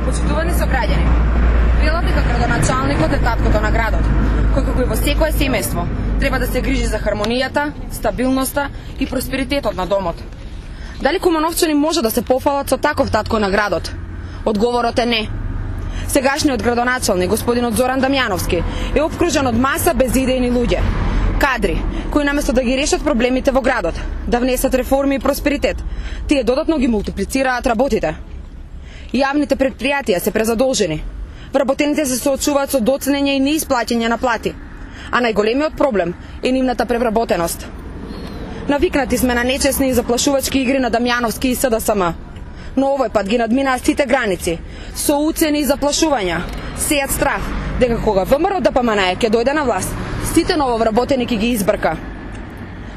Почитувани сограѓани, велат дека градоначалникот е таткото на градот, кој како и во секое семејство треба да се грижи за хармонијата, стабилноста и просперитетот на домот. Дали кумановчани може да се пофалат со таков татко на градот? Одговорот е не. Сегашниот градоначалник, господинот Зоран Дамјановски, е опкружен од маса безидејни луѓе, кадри, кои наместо да ги решат проблемите во градот, да внесат реформи и просперитет, тие додатно ги мултиплицираат работите. Јавните предпријатија се презадолжени. Вработените се соочуваат со доцнење и неисплаќање на плати, а најголемиот проблем е нивната превработеност. Навикнати сме на нечесни и заплашувачки игри на Дамјановски и СДСМ, но овој пат ги надминаа сите граници, со уцени и заплашувања, сејат страх дека кога ВМРО ДПМН ќе дојде на власт, сите нововработени ќе ги избрка.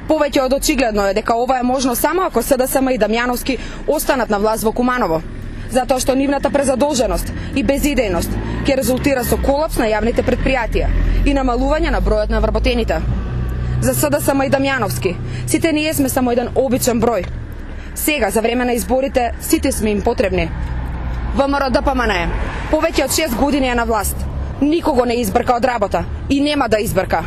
Повеќе од очигледно е дека ова е можно само ако СДСМ и Дамјановски останат на власт во Куманово, затоа што нивната презадолженост и безидејност ќе резултира со колапс на јавните предпријатија и намалување на бројот на вработените. За СДСМ и Дамјановски, сите ние сме само еден обичен број. Сега, за време на изборите, сите сме им потребни. ВМРО ДПМН повеќе од 6 години е на власт. Никого не избрка од работа и нема да избрка.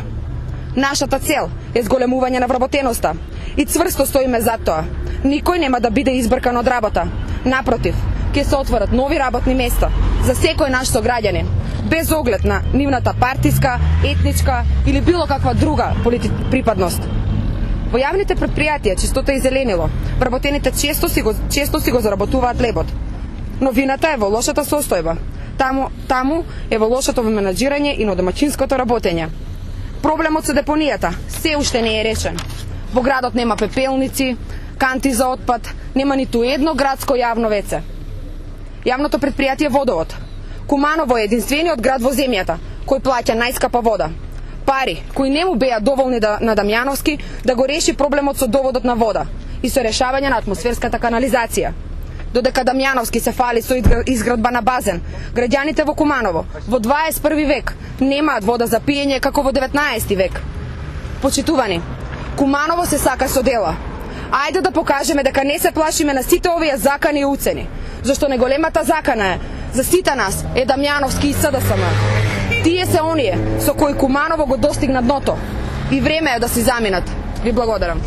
Нашата цел е зголемување на вработеноста и цврсто стоиме за тоа. Никој нема да биде избркан од работа. Напротив, ќе се отворат нови работни места за секој наш сограѓанин, без оглед на нивната партиска, етничка или било каква друга припадност. Во јавните предпријатија чистота и зеленило, вработените често си го заработуваат лебот. Но вината е во лошата состојба. Таму е во лошото менаџирање и на домаќинското работење. Проблемот со депонијата се уште не е решен. Во градот нема пепелници, канти за отпад, нема ниту едно градско јавно веце. Јавното предпријатие Водовод. Куманово е единствениот град во земјата кој плаќа најскапа вода. Пари кои не му беа доволни на Дамјановски да го реши проблемот со доводот на вода и со решавање на атмосферската канализација. Додека Дамјановски се фали со изградба на базен, граѓаните во Куманово во 21 век немаат вода за пиење како во 19 век. Почитувани, Куманово се сака со дела. Ајде да покажеме дека не се плашиме на сите овие закани и уцени, зашто најголемата закана е за сите нас е Дамјановски и СДСМ. Тие се оние со кои Куманово го достигна дното и време е да си заминат. Ви благодарам.